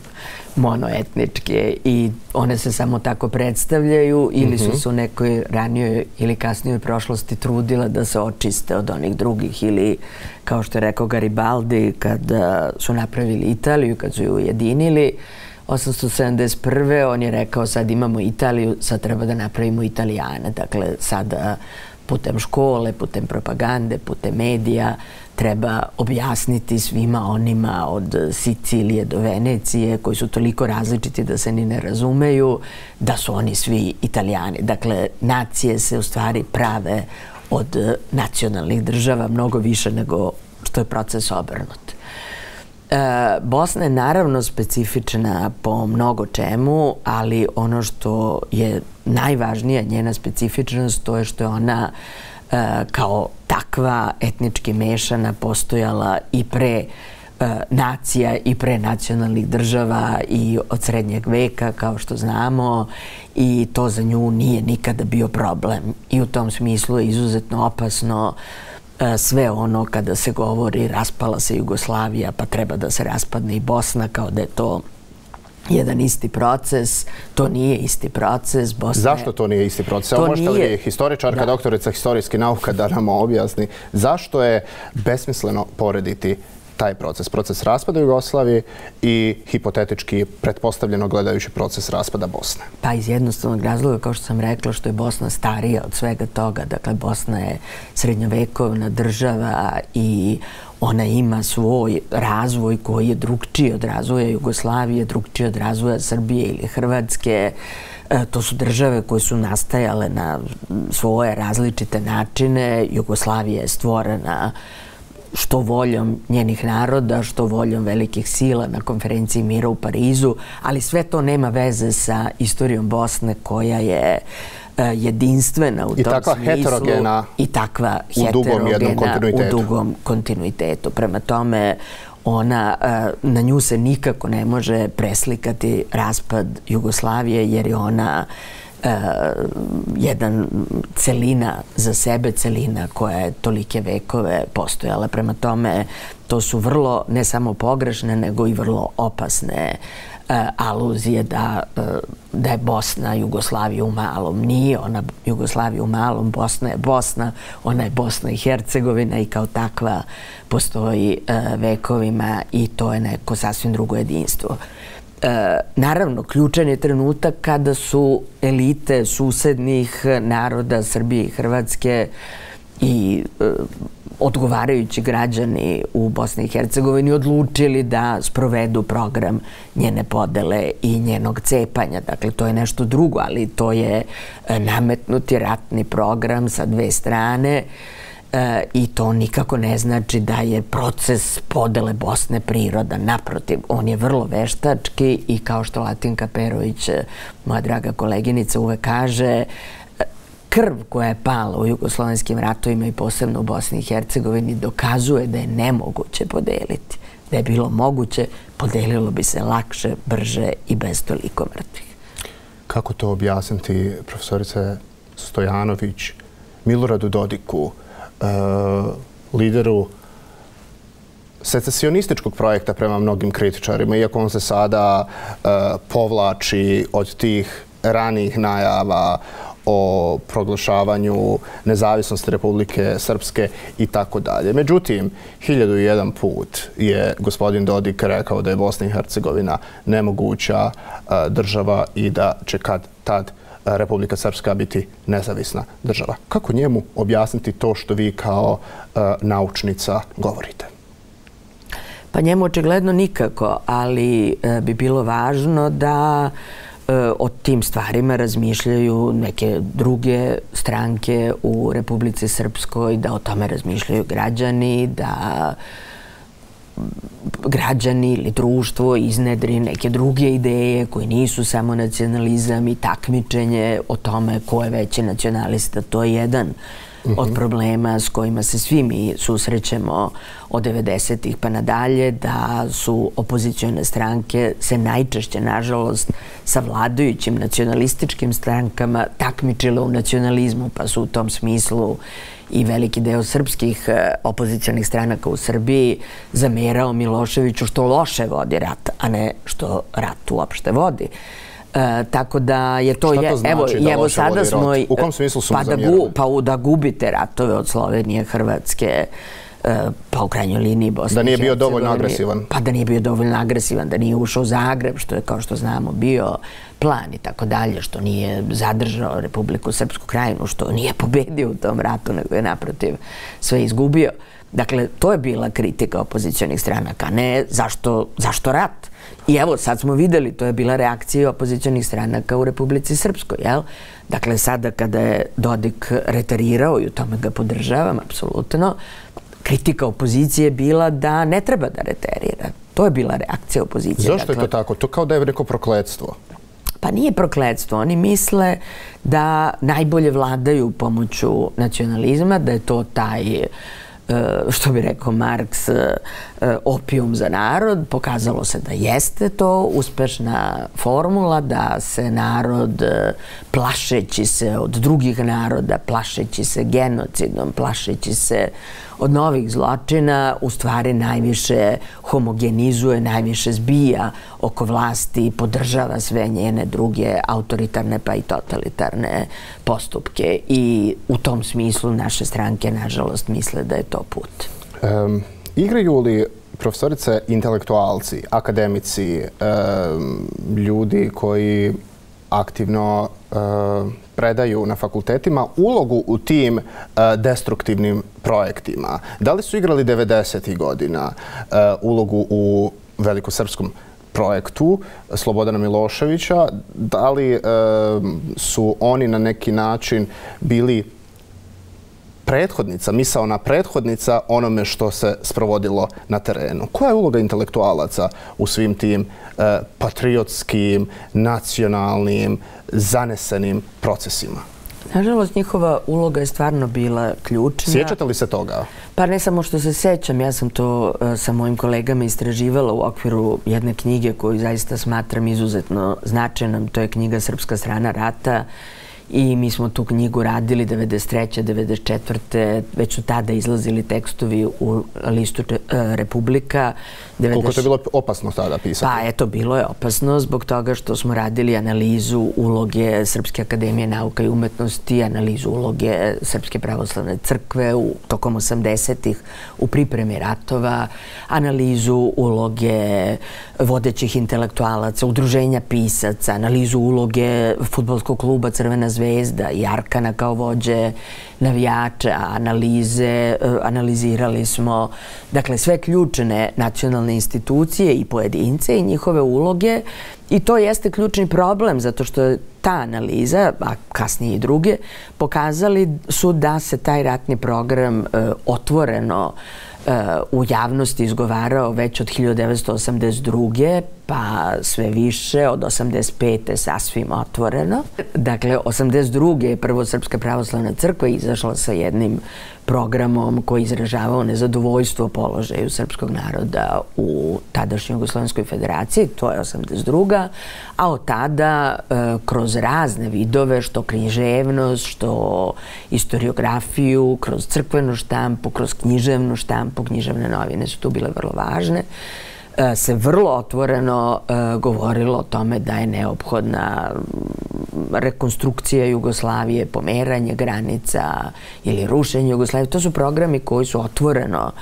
monoetničke i one se samo tako predstavljaju ili su se u nekoj ranijoj ili kasnijoj prošlosti trudile da se očiste od onih drugih ili, kao što je rekao Garibaldi, kada su napravili Italiju, kad su ju ujedinili osamsto sedamdeset prve. on je rekao sad imamo Italiju, sad treba da napravimo Italijane. Dakle, sada putem škole, putem propagande, putem medija treba objasniti svima onima od Sicilije do Venecije, koji su toliko različiti da se ni ne razumeju, da su oni svi Italijani. Dakle, nacije se u stvari prave od nacionalnih država mnogo više nego što je proces obrnut. Bosna je naravno specifična po mnogo čemu, ali ono što je najvažnija njena specifičnost to je što je ona kao takva etnički mešana postojala i pre nacija i pre nacionalnih država i od srednjeg veka, kao što znamo, i to za nju nije nikada bio problem. I u tom smislu je izuzetno opasno sve ono kada se govori raspala se Jugoslavija pa treba da se raspadne i Bosna, kao da je to jedan isti proces. To nije isti proces. Zašto to nije isti proces? Evo, možete li historičarka, doktorica historijskih nauka da nam objasni zašto je besmisleno porediti taj proces, proces raspada Jugoslavije i hipotetički pretpostavljeno gledajući proces raspada Bosne? Pa iz jednostavnog razloga, kao što sam rekla, što je Bosna starija od svega toga. Dakle, Bosna je srednjovekovna država i ona ima svoj razvoj koji je drugčiji od razvoja Jugoslavije, drugčiji od razvoja Srbije ili Hrvatske. To su države koje su nastajale na svoje različite načine. Jugoslavija je stvorena što voljom njenih naroda, što voljom velikih sila na konferenciji mira u Parizu, ali sve to nema veze sa istorijom Bosne koja je jedinstvena u tom smislu. I takva heterogena i takva heterogena u dugom kontinuitetu. Prema tome, ona, na nju se nikako ne može preslikati raspad Jugoslavije jer je ona jedan celina za sebe, celina koja je tolike vekove postojala. Prema tome, to su vrlo, ne samo pogrešne, nego i vrlo opasne aluzije da, da je Bosna Jugoslavija u malom. Nije ona Jugoslavija u malom, Bosna je Bosna, ona je Bosna i Hercegovina i kao takva postoji vekovima i to je neko sasvim drugo jedinstvo. Naravno, ključan je trenutak kada su elite susednih naroda Srbije i Hrvatske i odgovarajući građani u Bosni i Hercegovini odlučili da sprovedu program njene podele i njenog cepanja. Dakle, to je nešto drugo, ali to je nametnuti ratni program sa dve strane i to nikako ne znači da je proces podele Bosne prirodan. Naprotiv, on je vrlo veštački i kao što Latinka Perović, moja draga koleginica, uvek kaže, krv koja je pala u jugoslovenskim ratovima i posebno u Bosni i Hercegovini dokazuje da je nemoguće podeliti. Da je bilo moguće, podelilo bi se lakše, brže i bez toliko mrtvih. Kako to objasniti, profesorice Stojanović, Miloradu Dodiku, lideru secesionističkog projekta prema mnogim kritičarima, iako on se sada povlači od tih ranijih najava o proglašavanju nezavisnosti Republike Srpske i tako dalje. Međutim, hiljadu i jedan put je gospodin Dodik rekao da je Bosna i Hercegovina nemoguća država i da će kad tad Republika Srpska biti nezavisna država. Kako njemu objasniti to što vi kao naučnica govorite? Pa njemu očigledno nikako, ali bi bilo važno da o tim stvarima razmišljaju neke druge stranke u Republici Srpskoj, da o tome razmišljaju građani, da građani ili društvo iznedri neke druge ideje koje nisu samo nacionalizam i takmičenje o tome ko je veći nacionalista. To je jedan od problema s kojima se svi mi susrećemo od devedesetih pa nadalje, da su opozicione stranke se najčešće, nažalost, sa vladajućim nacionalističkim strankama takmičile u nacionalizmu, pa su u tom smislu i veliki deo srpskih opozicionih stranaka u Srbiji zamerao Miloševiću što loše vodi rat, a ne što rat uopšte vodi. E, tako da je to... Šta to znači evo, da evo, loše sada vodi smo, rat? U kom smislu su pa mu da zamjerali? gu, pa da gubite ratove od Slovenije, Hrvatske, pa u krajnjoj liniji Bosne i Da nije bio Hercegovine. dovoljno agresivan. Pa da nije bio dovoljno agresivan, da nije ušao u Zagreb, što je, kao što znamo, bio plan i tako dalje, što nije zadržao Republiku Srpsku Krajinu, što nije pobedio u tom ratu, nego je naprotiv sve izgubio. Dakle, to je bila kritika opozicionih stranaka, ne zašto, zašto rat. I evo, sad smo videli, to je bila reakcija opozicionih stranaka u Republici Srpskoj, jel? Dakle, sada kada je Dodik retarirao, i u tome ga podržavam, apsolutno, kritika opozicije je bila da ne treba da reterira. To je bila reakcija opozicije. Zašto je to tako? To kao da je neko prokletstvo. Pa nije prokletstvo. Oni misle da najbolje vladaju pomoću nacionalizma, da je to taj, što bi rekao Marks, opijum za narod. Pokazalo se da jeste to uspešna formula, da se narod, plašeći se od drugih naroda, plašeći se genocidom, plašeći se od novih zločina, u stvari najviše homogenizuje, najviše zbija oko vlasti i podržava sve njene druge autoritarne pa i totalitarne postupke. I u tom smislu naše stranke, nažalost, misle da je to put. Um, igraju li profesorice intelektualci, akademici, um, ljudi koji aktivno uh, predaju na fakultetima ulogu u tim uh, destruktivnim projektima? Da li su igrali devedesetih godina uh, ulogu u velikosrpskom projektu Slobodana Miloševića? Da li uh, su oni na neki način bili prethodnica, misaona prethodnica onome što se sprovodilo na terenu? Koja je uloga intelektualaca u svim tim uh, patriotskim, nacionalnim, zanesenim procesima? Nažalost, njihova uloga je stvarno bila ključna. Sjećate li se toga? Pa ne samo što se sećam, ja sam to uh, sa mojim kolegama istraživala u okviru jedne knjige koju zaista smatram izuzetno značajnom. To je knjiga Srpska strana rata. I mi smo tu knjigu radili devedeset treće devedeset četvrte Već su tada izlazili tekstovi u listu Republika. Koliko je to bilo opasno tada pisati? Pa eto, bilo je opasno zbog toga što smo radili analizu uloge Srpske akademije nauka i umetnosti, analizu uloge Srpske pravoslavne crkve u tokom osamdesetih u pripremi ratova, analizu uloge vodećih intelektualaca, udruženja pisaca, analizu uloge fudbalskog kluba Crvena zvezda i Arkana kao vođe navijača, analize, analizirali smo dakle sve ključne nacionalne institucije i pojedince i njihove uloge, i to jeste ključni problem zato što je ta analiza, a kasnije i druge, pokazali su da se taj ratni program otvoreno u javnosti izgovarao već od hiljadu devetsto osamdeset druge pa sve više od osamdeset pete sasvim otvoreno. Dakle, osamdeset druge je prvo Srpska pravoslavna crkva izašla sa jednim programom koji izražavao nezadovoljstvo položaju srpskog naroda u tadašnjoj Jugoslovenskoj federaciji, to je osamdeset druga a od tada kroz razne vidove, što književnost, što historiografiju, kroz crkvenu štampu, kroz književnu štampu, književne novine su tu bile vrlo važne, se vrlo otvoreno govorilo o tome da je neophodna rekonstrukcija Jugoslavije, pomeranje granica ili rušenje Jugoslavije. To su programi koji su otvoreno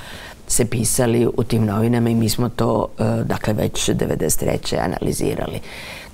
se pisali u tim novinama i mi smo to, dakle, već devedeset treće analizirali.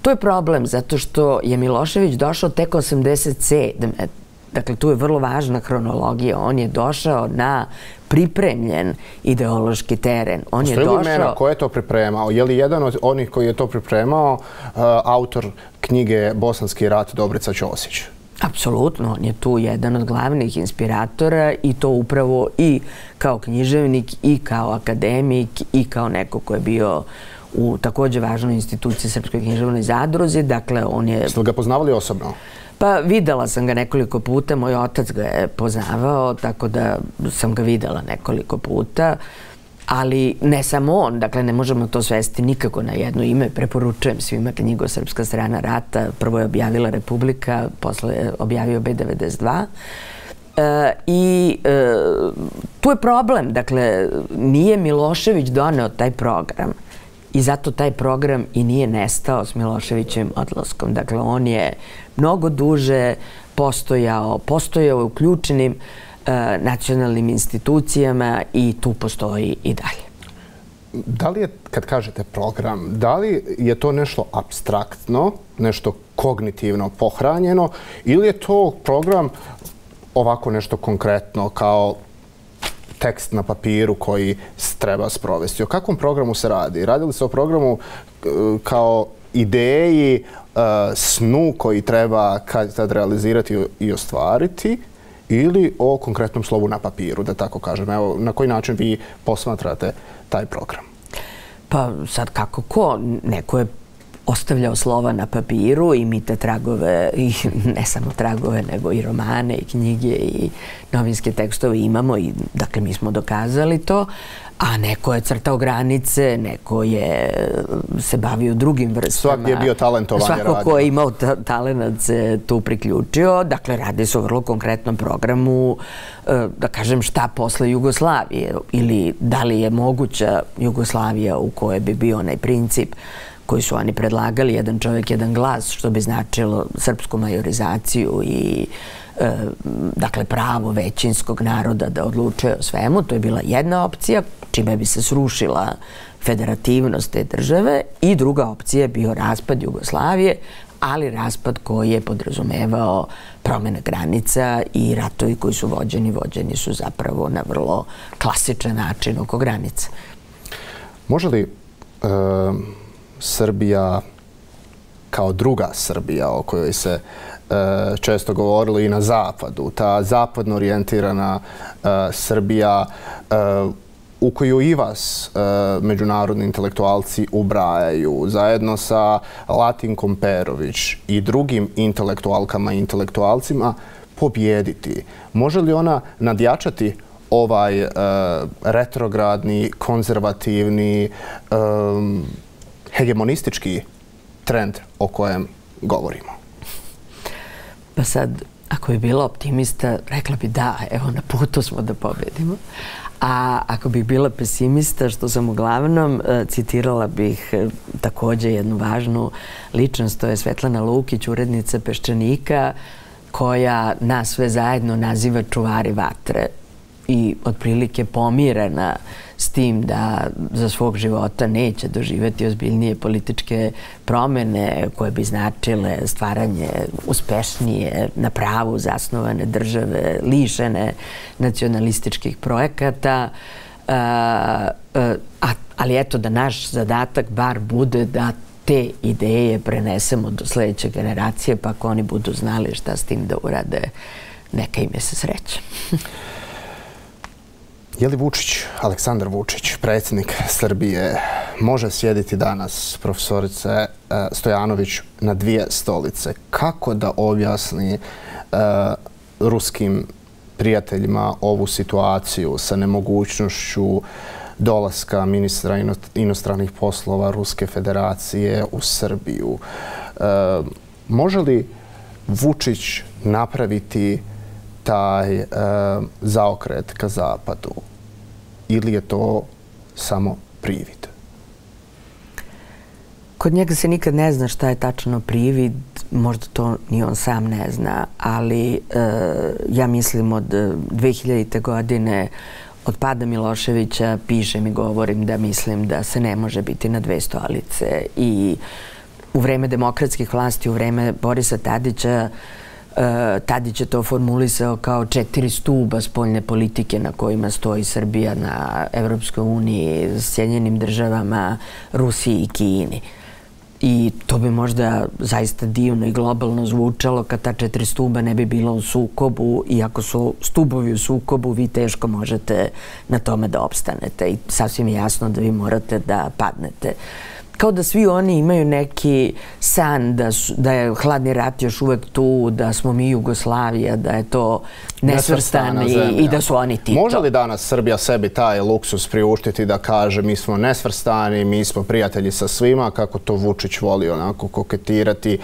To je problem zato što je Milošević došao tek osamdeset sedme Dakle, tu je vrlo važna hronologija. On je došao na pripremljen ideološki teren. On je došao... imena ko je to pripremao? Je li jedan od onih koji je to pripremao uh, autor knjige Bosanski rat Dobrica Ćosić? Apsolutno. On je tu jedan od glavnih inspiratora i to upravo i kao književnik i kao akademik i kao neko ko je bio u također važnoj instituciji Srpskoj književnoj zadruzi. Dakle, on je... Ste li ga poznavali osobno? Pa videla sam ga nekoliko puta, moj otac ga je poznavao, tako da sam ga videla nekoliko puta, ali ne samo on, dakle ne možemo to svesti nikako na jedno ime. Preporučujem svima knjigu Srpska strana rata, prvo je objavila Republika, posle je objavio B devedeset dva. I tu je problem, dakle nije Milošević doneo taj program i zato taj program i nije nestao s Miloševićevim odlaskom. Dakle, on je mnogo duže postojao, postojao u ključnim nacionalnim institucijama i tu postoji i dalje. Da li je, kad kažete program, da li je to nešto apstraktno, nešto kognitivno pohranjeno ili je to program ovako nešto konkretno kao tekst na papiru koji treba sprovesti? O kakvom programu se radi? Radi li se o programu kao ideji, snu koji treba kad realizirati i ostvariti ili o konkretnom slovu na papiru, da tako kažem? Evo, na koji način vi posmatrate taj program? Pa sad kako ko? Neko je ostavljao slova na papiru i mi te tragove, i ne samo tragove, nego i romane, i knjige, i novinske tekstove imamo i dakle mi smo dokazali to, a neko je crtao granice, neko je se bavio drugim vrstama. Svak je bio talentovan je radio. Svako ko je imao talent se tu priključio. Dakle, radi se o vrlo konkretnom programu, da kažem šta posle Jugoslavije ili da li je moguća Jugoslavija u kojoj bi bio onaj princip koji su oni predlagali, jedan čovjek, jedan glas, što bi značilo srpsku majorizaciju i dakle pravo većinskog naroda da odlučuje o svemu. To je bila jedna opcija, čime bi se srušila federativnost te države, i druga opcija je bio raspad Jugoslavije, ali raspad koji je podrazumevao promjene granica i ratovi koji su vođeni, vođeni su zapravo na vrlo klasičan način oko granica. Može li Srbija kao druga Srbija o kojoj se često govorilo i na zapadu, ta zapadno orijentirana Srbija u koju i vas međunarodni intelektualci ubrajaju, zajedno sa Latinkom Perović i drugim intelektualkama i intelektualcima, pobjediti? Može li ona nadjačati ovaj retrogradni, konzervativni, hegemonistički trend o kojem govorimo? Pa sad, ako bi bila optimista, rekla bi da, evo, na putu smo da pobedimo. A ako bih bila pesimista, što sam uglavnom, citirala bih također jednu važnu ličnost, to je Svetlana Lukić, urednica Peščanika, koja nas sve zajedno naziva čuvari vatre i otprilike pomirena s tim da za svog života neće doživjeti ozbiljnije političke promjene koje bi značile stvaranje uspešnije, na pravu zasnovane države, lišene nacionalističkih projekata. Ali eto, da naš zadatak bar bude da te ideje prenesemo do sljedeće generacije, pa ako oni budu znali šta s tim da urade, neka im je se sreće. Je li Vučić, Aleksandar Vučić, predsjednik Srbije, može sjediti danas, profesorice Stojanović, na dvije stolice? Kako da objasni ruskim prijateljima ovu situaciju sa nemogućnošću dolaska ministra inostranih poslova Ruske federacije u Srbiju? Može li Vučić napraviti taj zaokret ka zapadu ili je to samo privid? Kod njega se nikad ne zna šta je tačno privid, možda to ni on sam ne zna, ali ja mislim od dve hiljadite. godine, od pada Miloševića, pišem i govorim da mislim da se ne može biti na dve stolice. I u vreme demokratskih vlasti, u vreme Borisa Tadića, Tadić je to formulisao kao četiri stuba spoljne politike na kojima stoji Srbija, na Evropskoj uniji, Sjedinjenim državama, Rusiji i Kini. I to bi možda zaista divno i globalno zvučalo kad ta četiri stuba ne bi bila u sukobu, i ako su stubovi u sukobu, vi teško možete na tome da opstanete i sasvim je jasno da vi morate da padnete. kao da svi oni imaju neki san da je hladni rat još uvek tu, da smo mi Jugoslavija, da je to nesvrstani i da su oni Tito. Može li danas Srbija sebi taj luksus priuštiti da kaže mi smo nesvrstani, mi smo prijatelji sa svima, kako to Vučić voli onako koketirati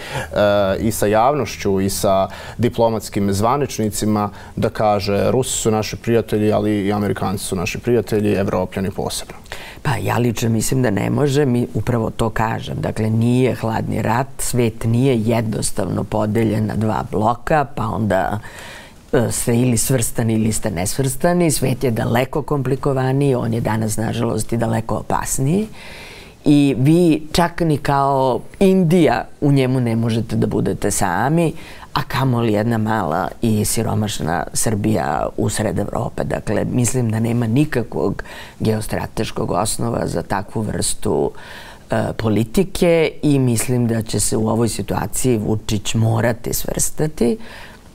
i sa javnošću i sa diplomatskim zvaničnicima, da kaže Rusi su naši prijatelji, ali i Amerikanci su naši prijatelji, Evropljani posebno? Pa ja lično mislim da ne može, mi upravo to kažem. Dakle, nije hladni rat, svet nije jednostavno podeljen na dva bloka, pa onda ste ili svrstani ili ste nesvrstani. Svet je daleko komplikovaniji, on je danas, nažalost, i daleko opasniji. I vi čak ni kao Indija u njemu ne možete da budete sami, a kamoli jedna mala i siromašna Srbija usred Evrope. Dakle, mislim da nema nikakvog geostrateškog osnova za takvu vrstu politike i mislim da će se u ovoj situaciji Vučić morati svrstati,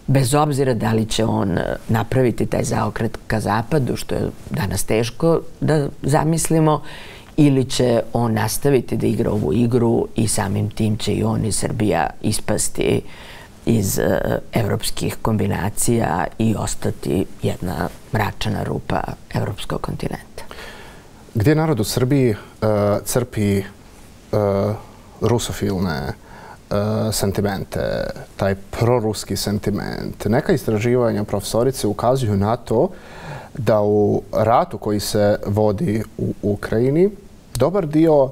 bez obzira da li će on napraviti taj zaokret ka zapadu, što je danas teško da zamislimo, ili će on nastaviti da igra ovu igru i samim tim će i on i Srbija ispasti iz evropskih kombinacija i ostati jedna mračna rupa evropskog kontinenta. Gdje narod u Srbiji crpi rusofilne sentimente, taj proruski sentiment? Neka istraživanja profesorice ukazuju na to da u ratu koji se vodi u Ukrajini dobar dio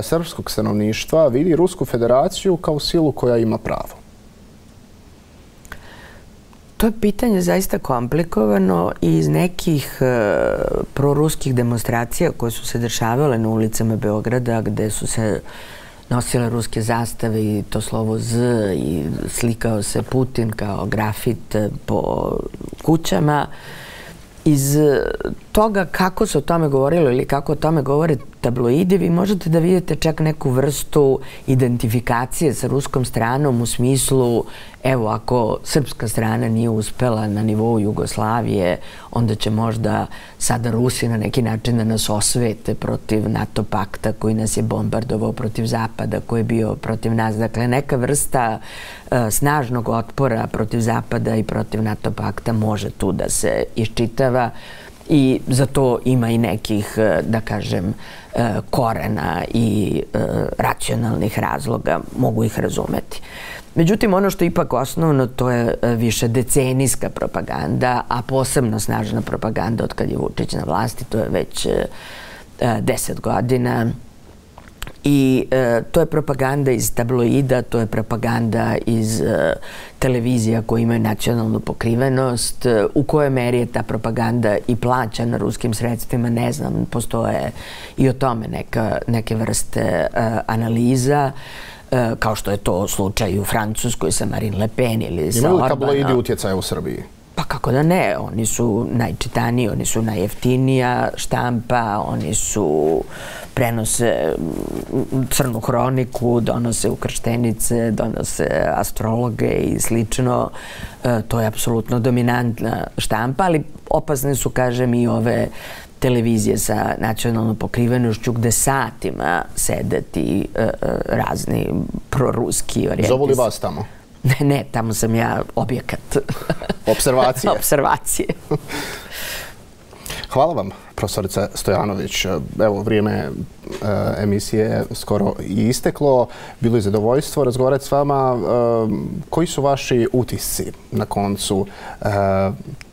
srpskog stanovništva vidi Rusku federaciju kao silu koja ima pravo. To je pitanje zaista komplikovano i iz nekih proruskih demonstracija koje su se dešavale na ulicama Beograda, gde su se nosile ruske zastave i to slovo Z i slikao se Putin kao grafit po kućama. Iz toga kako se o tome govorilo ili kako o tome govore tabloidi, vi možete da vidite čak neku vrstu identifikacije sa ruskom stranom u smislu, evo, ako srpska strana nije uspela na nivou Jugoslavije, onda će možda sada Rusi na neki način da nas osvete protiv NATO pakta koji nas je bombardovao, protiv Zapada koji je bio protiv nas. Dakle, neka vrsta snažnog otpora protiv Zapada i protiv NATO pakta može tu da se iščitava i za to ima i nekih, da kažem, korena i racionalnih razloga, mogu ih razumeti. Međutim, ono što je ipak osnovno, to je više decenijska propaganda, a posebno snažna propaganda od kad je Vučić na vlasti, to je već deset godina. I to je propaganda iz tabloida, to je propaganda iz televizija koje imaju nacionalnu pokrivenost. U kojoj meri je ta propaganda i plaćana ruskim sredstvima, ne znam, postoje i o tome neke vrste analiza, kao što je to slučaj u Francuskoj sa Marine Le Pen ili sa Orbanom. Imaju li tabloidi utjecaja u Srbiji? Pa kako da ne, oni su najčitaniji, oni su najjeftinija štampa, oni su prenose crnu hroniku, donose ukrštenice, donose astrologe i slično. To je apsolutno dominantna štampa, ali opasne su, kažem, i ove televizije sa nacionalnom pokrivenošću gde satima sede ti razni proruski orijentis. Zovu li vas tamo? Ne, ne, tamo sam ja objekat. Observacije? Observacije. Hvala vam, profesorica Stojanović. Evo, vrijeme emisije je skoro i isteklo. Bilo je zadovoljstvo razgovarati s vama. Koji su vaši utisci na koncu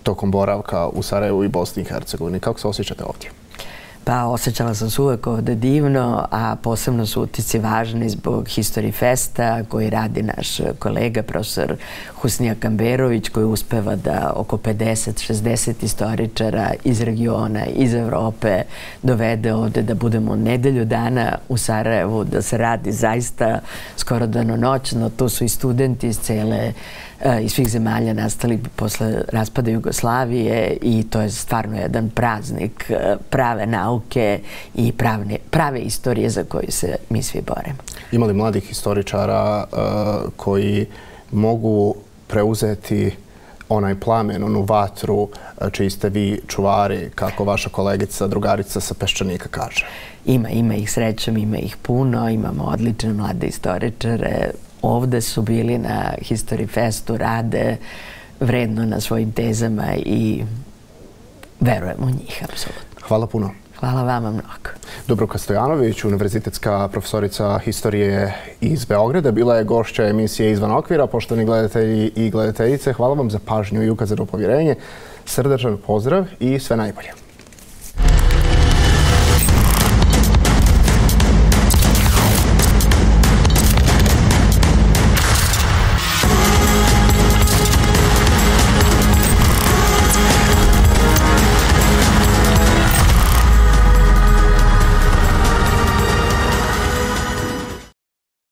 tokom boravka u Sarajevu i Bosni i Hercegovini? Kako se osjećate ovdje? Pa osjećala sam se uvek ovde divno, a posebno su utisci važni zbog History Festa koji radi naš kolega, profesor Husnija Kamberović, koji uspeva da oko pedeset šezdeset istoričara iz regiona, iz Evrope dovede ovde da budemo nedelju dana u Sarajevu, da se radi zaista skoro danonoćno. Tu su i studenti iz cele iz svih zemalja nastali posle raspada Jugoslavije i to je stvarno jedan praznik prave nauke i prave istorije za koju se mi svi boremo. Ima li mladih historičara koji mogu preuzeti onaj plamen, onu vatru čiji ste vi čuvari, kako vaša kolegica, drugarica sa Peščanika kaže? Ima, ima ih srećom, ima ih puno, imamo odlične mlade istoričare. Ovde su bili na History Festu, rade vredno na svojim tezama i verujem u njih, apsolutno. Hvala puno. Hvala vama mnogo. Dubravka Stojanović, univerzitetska profesorica historije iz Beograda, bila je gošća emisije Izvan okvira. Poštovani gledatelji i gledateljice, hvala vam za pažnju i ukazano povjerenje. Srdačan pozdrav i sve najbolje.